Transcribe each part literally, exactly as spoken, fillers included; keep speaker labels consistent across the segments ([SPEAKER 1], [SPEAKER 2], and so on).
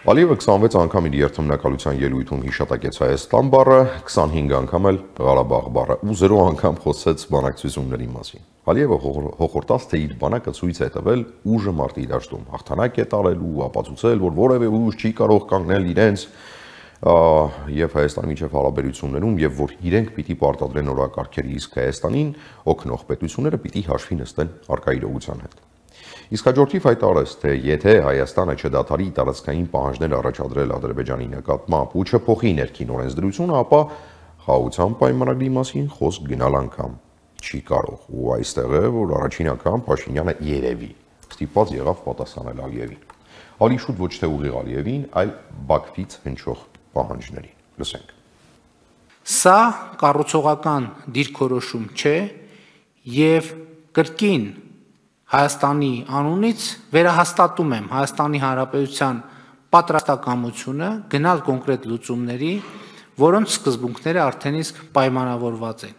[SPEAKER 1] Ալիևը քսանվեց անգամ իր երթմնակալության ելույթում հիշատակեց Հայաստան բառը, քսանհինգ անգամ էլ Ղարաբաղ բառը ու զրո անգամ խոսեց բանակցությունների մասին։ Ալիևը հոխորտաց, թե իր բանակը ցույց է տվել ուժը մարտի դաշտում, հաղթանակ է տարել ու ապացուցել, որ որևէ ուժ չի կարող կանգնել իրենց եւ Հայաստանի միջև հարաբերություններում եւ որ իրենք պիտի պարտադրեն օրակարգերի, իսկ Հայաստանին օգնող պետությունները պիտի հաշվի նստեն առկա իրողության հետ։ Իսկ հաջորդիվ հայտարարեց, թե եթե Հայաստանը չդադարի տարածքային պահանջներ առաջադրել Ադրբեջանի նկատմամբ ու չփոխի ներքին օրենսդրությունը, ապա խաղաղության պայմանագրի մասին խոսք գնալ անգամ չի կարող։ Ու այստեղ է, որ առաջին անգամ Փաշինյանը երևի ստիպված եղավ պատասխանել Ալիևին։ Ալի շուտ ոչ թե ուղիղ Ալիևին, այլ Բաքվից հնչող պահանջներին։ Լսենք։
[SPEAKER 2] Սա կառուցողական դիրքորոշում չէ եւ կրկին Հայաստանի անունից վերահաստատում եմ Հայաստանի Հանրապետության պատրաստակամությունը գնալ կոնկրետ լուծումների, որոնց սկզբունքները արդեն իսկ պայմանավորված են։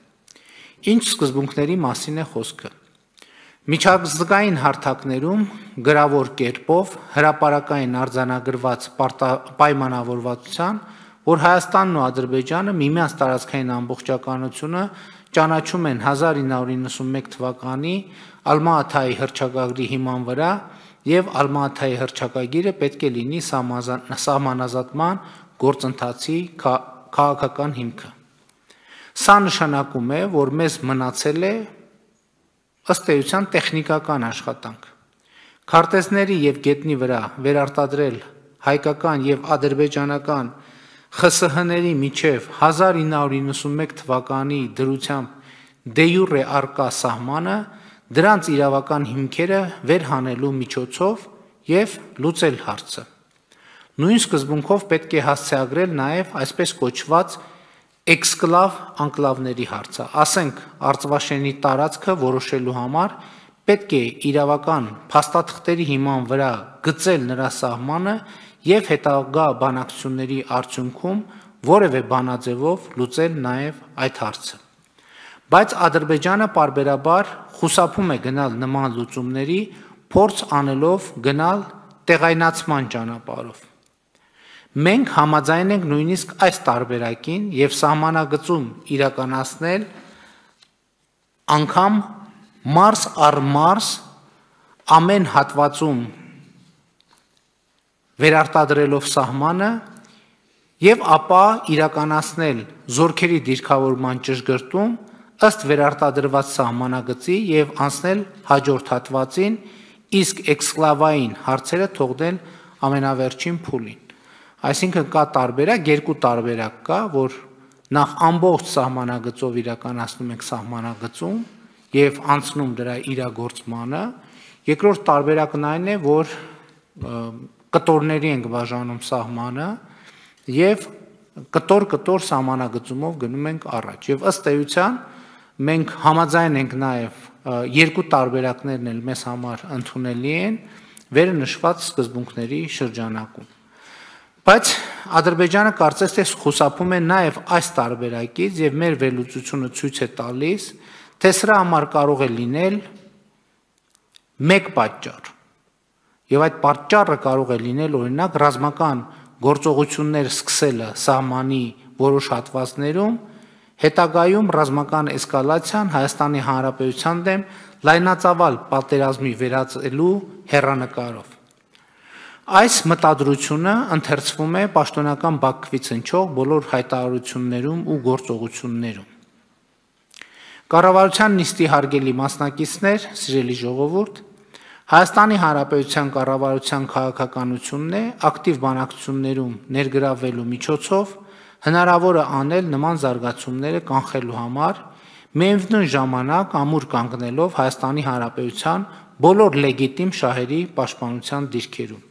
[SPEAKER 2] Ինչ սկզբունքների մասին է խոսքը։ Միջազգային հարթակներում գրավոր կերպով հրապարակային արձանագրված պայմանավորվածության, որ Հայաստանն ու Ադրբեջանը միմյանց տարածքային ամբողջականությունը ճանաչում են հազար ինը հարյուր իննսունմեկ թվականի Ալմա-Աթայի հռչակագրի հիման վրա եւ Ալմա-Աթայի հռչակագիրը պետք է լինի սահմանազատման գործընթացի քաղաքական հիմքը։ Սա նշանակում է, որ մեզ մնացել է ըստ էության տեխնիկական աշխատանք։ Քարտեզների եւ գետնի վրա վերարտադրել հայկական եւ ադրբեջանական Խ Ս Հ-ների միջև հազար ինը հարյուր իննսունմեկ թվականի դրությամբ դե յուրե արկա սահմանը, դրանց իրավական հիմքերը վերհանելու միջոցով եւ լուծել հարցը։ Նույն սկզբունքով պետք է հասցեագրել նաեւ այսպես կոչված էքսկլավ անկլավների հարցը, ասենք Արցվաշենի տարածքը որոշելու համար պետք է իրավական փաստաթղթերի հիման վրա գծել նրա սահմանը եւ հետագա բանակցությունների արդյունքում որևէ բանաձևով լուծել նաեւ այդ հարցը։ Բայց Ադրբեջանը պարբերաբար խուսափում է գնալ նման լուծումների, փորձ անելով գնալ տեղայնացման ճանապարհով։ Մենք համաձայն ենք նույնիսկ այս տարբերակին եւ սահմանագծում իրականացնել անգամ մարս առ մարս ամեն հատվածում վերարտադրելով սահմանը եւ ապա իրականացնել զորքերի դիրքավորման ճշգրտում ըստ վերարտադրված սահմանագծի եւ անցնել հաջորդ հատվածին, իսկ էքսկլավային հարցերը թողնել ամենավերջին փուլին։ Այսինքն կա տարբերակ, երկու տարբերակ կա, որ նախ ամբողջ սահմանագծով իրականացնում ենք սահմանագծում եւ անցնում դրա իրագործմանը, երկրորդ տարբերակն այն է, որ կտորների ենք բաժանում սահմանը եւ կտոր-կտոր սահմանագծումով գնում ենք առաջ։ Եվ ըստ էության մենք համաձայն ենք նաեւ երկու տարբերակներն էլ մեզ համար ընդունելի են վերը նշված սկզբունքների շրջանակում։ Բայց Ադրբեջանը կարծես թե խուսափում է նաեւ այս տարբերակից եւ մեր վերլուծությունը ցույց է տալիս, թե սրա համար կարող է լինել մեկ պատճառ։ Եվ այդ պատճառը կարող է լինել օրինակ ռազմական գործողություններ սկսելը սահմանի որոշ հատվածներում, հետագայում ռազմական էսկալացիան Հայաստանի Հանրապետության դեմ լայնածավալ պատերազմի վերածելու հեռանկարով։ Այս մտադրությունը ընթերցվում է պաշտոնական Բաքվից հնչող բոլոր հայտարարություններում ու գործողություններում։ Կառավարության նիստի հարգելի մասնակիցներ, սիրելի ժողովուրդ, Հայաստանի Հանրապետության կառավարության քաղաքականությունն է ակտիվ բանակցություններում ներգրավվելու միջոցով հնարավոր է անել նման զարգացումները կանխելու համար, միևնույն ժամանակ ամուր կանգնելով Հայաստանի Հանրապետության բոլոր լեգիտիմ շահերի պաշտպանության դիրքերում։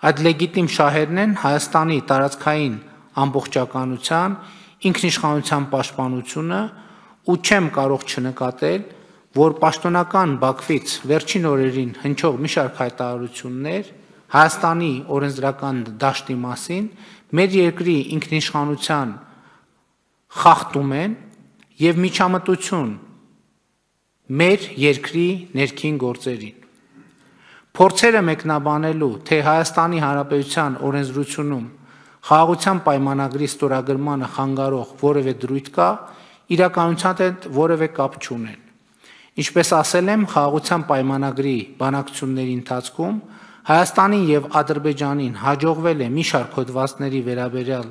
[SPEAKER 2] Այդ լեգիտիմ շահերն են Հայաստանի տարածքային ամբողջականության, ինքնիշխանության պաշտպանությունը ու չեմ կարող չնկատել, որ պաշտոնական Բաքվից վերջին օրերին հնչող մի շարք հայտարարություններ Հայաստանի օրենսդրական դաշտի մասին մեր երկրի ինքնիշխանության խախտում են եւ միջամտություն մեր երկրի ներքին գործերին։ Փորձերը մեկնաբանելու, թե Հայաստանի Հանրապետության օրենսդրությունում խաղաղության պայմանագրի ստորագրմանը խանգարող որևէ դրույթ կա, իրականության հետ որևէ կապ չունեն։ Ինչպես ասել եմ, խաղաղության պայմանագրի բանակցությունների ընթացքում Հայաստանին եւ Ադրբեջանին հաջողվել է մի շարք հոդվածների վերաբերյալ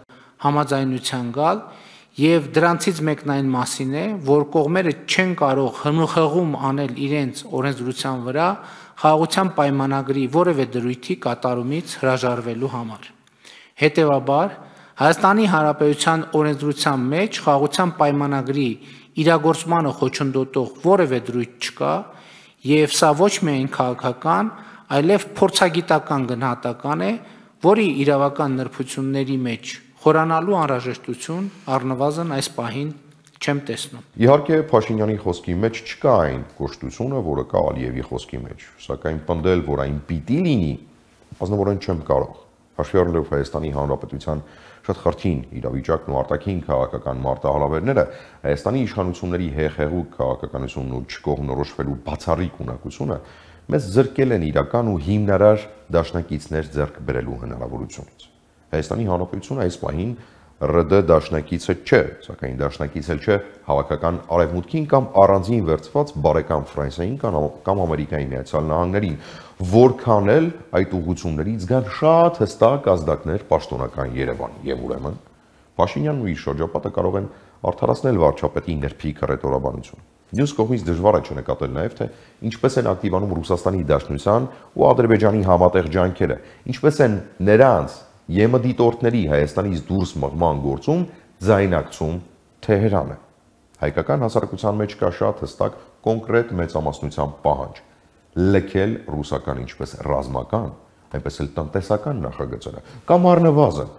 [SPEAKER 2] համաձայնության գալ, եւ դրանցից մեկն այն մասին է, որ կողմերը չեն կարող հնուխեղում անել իրենց օրենսդրության վրա խաղաղության պայմանագրի որևէ դրույթի կատարումից հրաժարվելու համար։ Հետևաբար, Հայաստանի Հանրապետության օրենսդրության մեջ խաղաղության պայմանագրի իրագործմանը խոչընդոտող որևէ դրույթ չկա, եւ սա ոչ միայն քաղաքական, այլև փորձագիտական գնահատական է, որի իրավական նրբությունների մեջ խորանալու անհրաժեշտություն առնվազն այս պահին չեմ տեսնում։
[SPEAKER 1] Իհարկե, Փաշինյանի խոսքի մեջ չկա այն կոշտությունը, որը կա Ալիևի խոսքի մեջ, սակայն պնդել, որ այն պիտի լինի, ազնվորեն չեմ կարող։ Հաշվի առնելով Հայաստանի Հանրապետության շատ խրթին իրավիճակն ու արտաքին քաղաքական մարտահրավերները, Հայաստանի իշխանությունների հեղեղուկ քաղաքականությունն ու չկողմնորոշվելու բացառիկ ունակությունը մեզ զրկել են իրական ու հիմնարար դաշնակիցներ ձեռք բերելու հնարավորությունից։ Հայաստանի Հանրապետությունը այս պահին ՌԴ դաշնակիցը չէ, սակայն դաշնակից էլ չէ հավաքական արևմուտքին կամ առանձին վերծված բարեկամ Ֆրանսիային կամ Ամերիկայի Միացյալ Նահանգներին, որքան էլ այդ ուղղություններից գան շատ հստակ ազդակներ պաշտոնական Երևանի, եւ ուրեմն Փաշինյանն ու իր շրջապատը կարող են արդարացնել վարչապետի ներփիկ հռետորաբանությունը։ Մյուս կողմից դժվար է չնկատել նաև, թե ինչպես են ակտիվանում Ռուսաստանի Դաշնության ու Ադրբեջանի համատեղ ջանքերը, ինչպես են նրանց ԵՄ դիտորդների Հայաստանից դուրս մղման գործում ձայնակցում Թեհրանը։ Հայկական հասարակության մեջ կա շատ հստակ կոնկրետ մեծամասնության պահանջ լքել ռուսական ինչպես ռազմական, այնպես էլ տնտեսական նախագծերը կամ առնվազն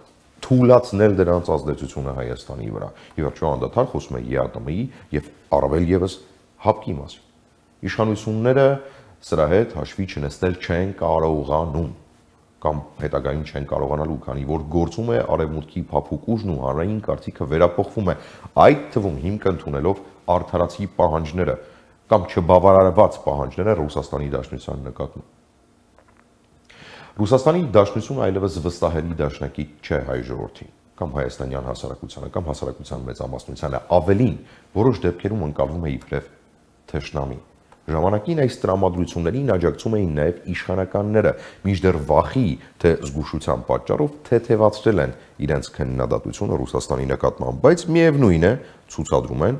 [SPEAKER 1] թույլատրել դրանց ազդեցությունը Հայաստանի վրա։ Ի վերջո անդադար խոսում է ԵԱՏՄ-ի եւ առավել եւս ՀԱՊԿ-ի մասին։ Իշխանությունները սրա հետ հաշվի չնստել չեն կարողանում կամ հետագայում չեն կարողանալու, քանի որ գործում է արևմուտքի փափուկ ուժն ու հանրային կարծիքը վերափոխվում է, այդ թվում հիմք ընդունելով արդարացի պահանջները կամ չբավարարված պահանջները Ռուսաստանի Դաշնության նկատմամբ։ Ռուսաստանի Դաշնությունը այլևս վստահելի դաշնակից չէ հայ ժողովրդին կամ հայաստանյան հասարակությանը կամ հասարակության մեծամասնությանը, ավելին որոշ դեպքերում ընկալվում է իբրև թշնամի։ Ժամանակին այս տրամադրություններին աջակցում էին նաև իշխանականները, մինչդեռ վախի թե զգուշության պատճառով թեթևացրել են իրենց քննադատությունը Ռուսաստանի նկատմամբ, բայց միևնույն է, ցուցադրում են,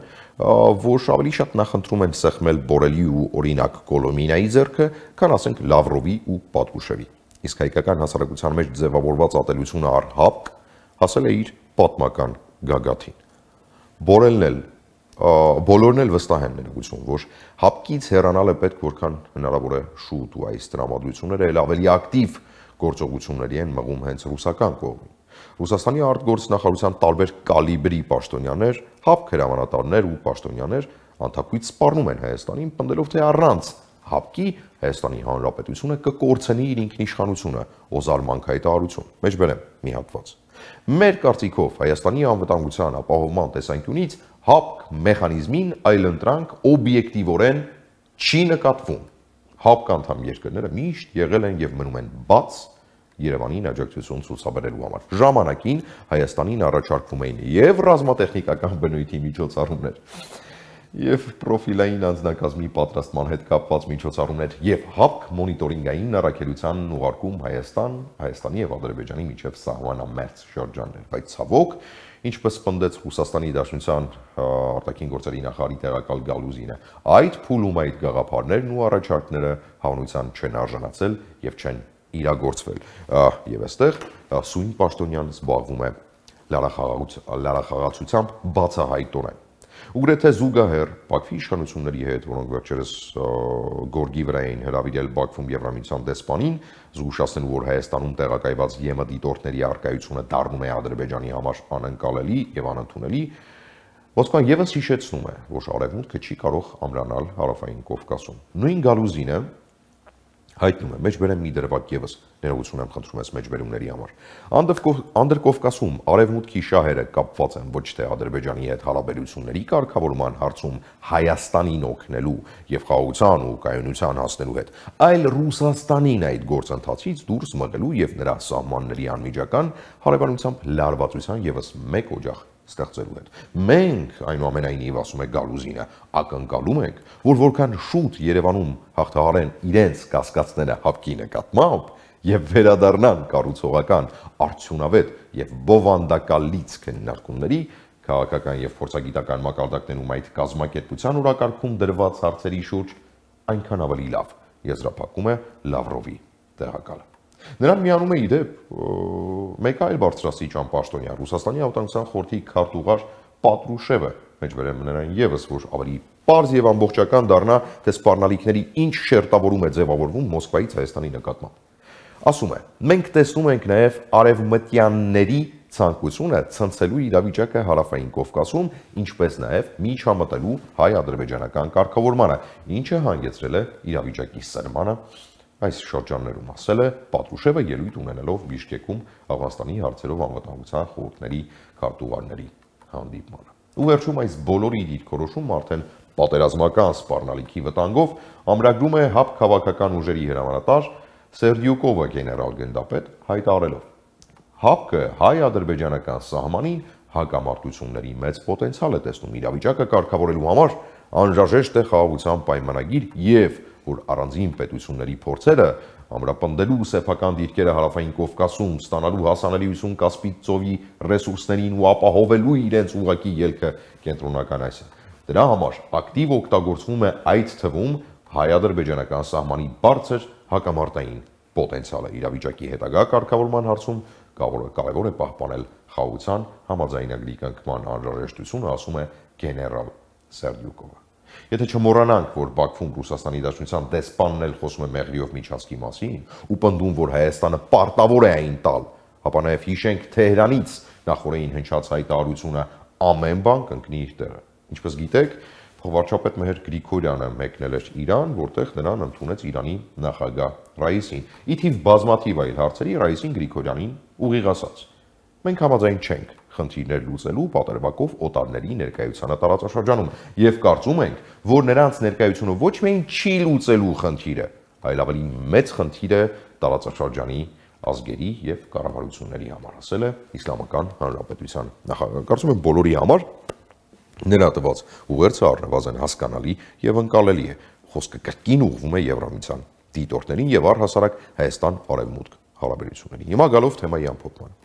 [SPEAKER 1] որ ավելի շատ նախընտրում են սեղմել Բորելի ու օրինակ Կոլոմինայի ձեռքը, քան ասենք Լավրովի ու Պատրուշևի։ Իսկ հայկական հասարակության մեջ ձևավորված ատելությունը առ ՀԱՊԿ հասել է իր պատմական գագաթին։ Բորելն էլ բոլորն էլ վստահ են ներգություն, որ ՀԱՊԿ-ից հեռանալը պետք որքան հնարավոր է շուտ ու այս տրամադրությունները էլ ավելի ակտիվ գործողությունների են մղում հենց ռուսական կողմին։ Ռուսաստանի արտգործնախարարության տարբեր կալիբրի պաշտոնյաներ, ՀԱՊԿ հրամանատարներ ու պաշտոնյաներ անթափույց սպառնում են Հայաստանին, պնդելով թե առանց ՀԱՊԿ-ի Հայաստանի Հանրապետությունը կկորցնի իր ինքնիշխանությունը, օզարմանք հայտարարություն։ Մեջբերեմ մի հատված։ Մեր կարծիքով Հայաստանի անվտանգության ապահովման տեսանկյունից ՀԱՊԿ մեխանիզմին այլընտրանք օբյեկտիվորեն չի նկատվում։ ՀԱՊԿ անդամ երկրները միշտ եղել են եւ մնում են բաց Երևանին աջակցություն ցուցաբերելու համար։ Ժամանակին Հայաստանին առաջարկվում էին եւ ռազմատեխնիկական բնույթի միջոցառումներ, եւ պրոֆիլային անձնակազմի պատրաստման հետ կապված միջոցառումներ եւ ՀԱՊԿ մոնիտորինգային առաքելության ուղարկում Հայաստան, Հայաստանի եւ Ադրբեջանի միջև սահմանամերձ շրջաններ, բայց ցավոք, ինչպես պնդեց Ռուսաստանի Դաշնության արտաքին գործերի նախարարի տեղակալ Գալուզինը, այդ փուլում այդ գաղափարներն ու առաջարկները հավանության չեն արժանացել եւ չեն իրագործվել։ Եվ այստեղ Սույն Պաշտոնյան զբաղվում է լարախաղացությամբ բացահայտորեն։ Ուգրեթե զուգահեռ Բաքվի իշխանությունների հետ, որոնք վերջերս գորգի վրա էին հրավիրել Բաքվում Եվրամիության դեսպանին, զգուշացնելու, որ Հայաստանում տեղակայված ԵՄ դիտորդների առկայությունը դառնում է Ադրբեջանի համար անընկալելի եւ անընդունելի, Մոսկվան եւս հիշեցնում է, որ արևմուտքը չի կարող ամրանալ հարավային Կովկասում։ Նույն Գալուզինը Հայտնում է, մեջբերեմ մի դրվագ եւս, ներողություն եմ խնդրում ես մեջբերումների համար։ Անդրկովկասում արևմուտքի շահերը կապված են ոչ թե Ադրբեջանի հետ հարաբերությունների կարգավորման հարցում Հայաստանին օգնելու եւ խաղաղության ու կայունության հասնելու հետ, այլ Ռուսաստանին այդ գործընթացից դուրս մղելու եւ նրա սահմանների անմիջական հարաբերությամբ լարվածության եւս մեկ օջախ ստեղծելու հետ։ Մենք, այնուամենայնիվ, ասում է Գալուզինը, ակնկալում ենք, որ որքան շուտ Երևանում հաղթահարեն իրենց կասկածները հապկի նկատմամբ եւ վերադառնան կառուցողական, արդյունավետ եւ բովանդակալից քննարկումների, քաղաքական եւ փորձագիտական մակարդակներում այդ կազմակերպության օրակարգում դրված հարցերի շուրջ, այնքան ավելի լավ, եզրափակում է Լավրովի տեղակալը։ Նրան միանում է իդեպ մեկ այլ բարձրաստիճան պաշտոնյա Ռուսաստանի անվտանգության խորհրդի քարտուղար Պատրուշևը, մեջբերեմ նրան եւս, որ ավելի պարզ եւ ամբողջական դառնա, թե սպառնալիքների ինչ շերտավորում է ձևավորվում Մոսկվայից Հայաստանի նկատմամբ։ Ասում է. մենք տեսնում ենք նաեւ արևմտյանների ցանկությունը ցնցելու իրավիճակը հարավային Կովկասում, ինչպես նաեւ միջամտելու հայ-ադրբեջանական կարգավորմանը, ինչը հանգեցրել է իրավիճակի սրմանը այս շրջաններում, ասել է Պատրուշևը ելույթ ունենելով Բիշկեկում Աֆղանստանի հարցերով անվտանգության խորհուրդների քարտուղարների հանդիպմանը։ Ու վերջում այս բոլորի դիրքորոշումը արդեն պատերազմական սպառնալիքի վտանգով ամրագրում է ՀԱՊ քաղաքական ուժերի հրամանատար Սերդյուկովը գեներալ գնդապետ հայտարարելով. ՀԱՊԿ հայ-ադրբեջանական սահմանին հակամարտությունների մեծ պոտենցիալ է տեսնում իրավիճակը կարգավորելու համար, անհրաժեշտ է խաղաղության պայմանագիր եւ որ առանձին պետությունների փորձերը ամրապնդելու սեփական դիրքերը հարավային Կովկասում ստանալու հասանելիություն Կասպից ծովի ռեսուրսներին ու ապահովելու իրենց ուղղակի ելքը կենտրոնական Ասիա։ Դրա համար ակտիվ օգտագործվում է այդ թվում հայ-ադրբեջանական սահմանի բարձր հակամարտային պոտենցիալը իրավիճակի հետագա կարգավորման հարցում կարևոր է պահպանել խաղաղության համաձայնագրի կնքման անհրաժեշտությունը, ասում է գեներալ Սերդյուկովը։ Եթե չմոռանանք, որ Բաքվում Ռուսաստանի Դաշնության դեսպանն էլ խոսում է Մեղրիով միջանցքի մասին ու պնդում, որ Հայաստանը պարտավոր է այն տալ, ապա նաև հիշենք Թեհրանից նախորդին հնչած հայտարարությունը ամեն բան կընկնի իր տեղը։ Ինչպես գիտեք, փոխվարչապետ Մեհր Գրիգորյանը մեկնել էր Իրան, որտեղ նրան ընդունեց Իրանի նախագահ Ռայիսին։ Ի թիվ բազմաթիվ այլ հարցերի Ռայիսին Գրիգորյանին ուղիղ ասաց. մենք համաձայն չենք խնդիրներ լուծելու պատերբակով օտարների ներկայությանը տարածաշրջանում եւ կարծում ենք, որ նրանց ներկայությունը ոչ միայն չի լուծելու խնդիրը, այլ ավելի մեծ խնդիր է տարածաշրջանի ազգերի եւ կառավարությունների համար, ասել է Իսլամական Հանրապետության նախագահը։ Կարծում եմ բոլորի համար նրա տված ուղերձը առնվազն հասկանալի եւ ընկալելի է։ Խոսքը կրկին ուղղվում է Եվրամիության դիտորդներին եւ առհասարակ Հայաստան-Արևմուտք հարաբերություններին։ Հիմա գալով թեմայի ամփոփման։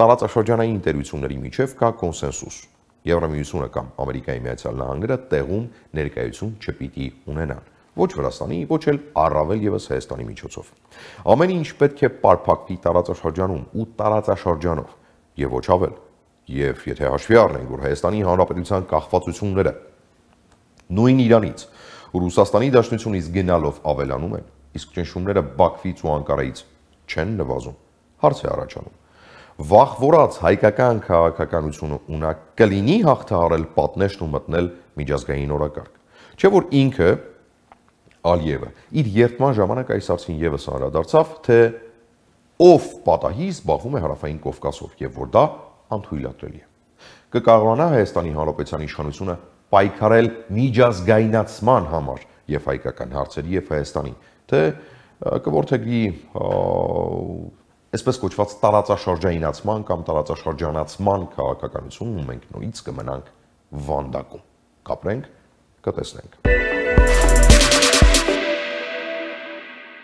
[SPEAKER 1] Տարածաշրջանային ինտերությունների միջև կա կոնսենսուս։ Եվրամիությունը կամ Ամերիկայի Միացյալ Նահանգները տեղում ներկայություն չպիտի ունենան։ Ոչ Վրաստանի, ոչ էլ առավել եւս Հայաստանի միջոցով։ Ամեն ինչ պետք է պարփակվի տարածաշրջանում ու տարածաշրջանով եւ ոչ ավել։ Եվ եթե հաշվի առնենք, որ Հայաստանի Հանրապետության կախվածությունները նույն Իրանից ու Ռուսաստանի Դաշնությունից գնալով ավելանում են, իսկ ճնշումները Բաքվից ու Անկարայից չեն նվազում, հարց է առաջանում. վաղ որած հայկական քաղաքականությունը ունակ կլինի հաղթահարել պատնեշն ու մտնել միջազգային օրակարգ։ Չէ՞ որ ինքը Ալիևը իր երդման ժամանակ այս հարցին եւս անդրադարձավ, թե ով պատահի զբաղվում է հարավային Կովկասով եւ որ դա անթույլատրելի է։ Կկարողանա Հայաստանի Հանրապետության իշխանությունը պայքարել միջազգայնացման համար եւ հայկական հարցերի եւ Հայաստանի, թե կորթեգրի այսպես կոչված տարածաշրջանացման կամ տարածաշրջանացման քաղաքականությունում մենք նույնիսկ կմնանք վանդակում։ Կապրենք, կտեսնենք։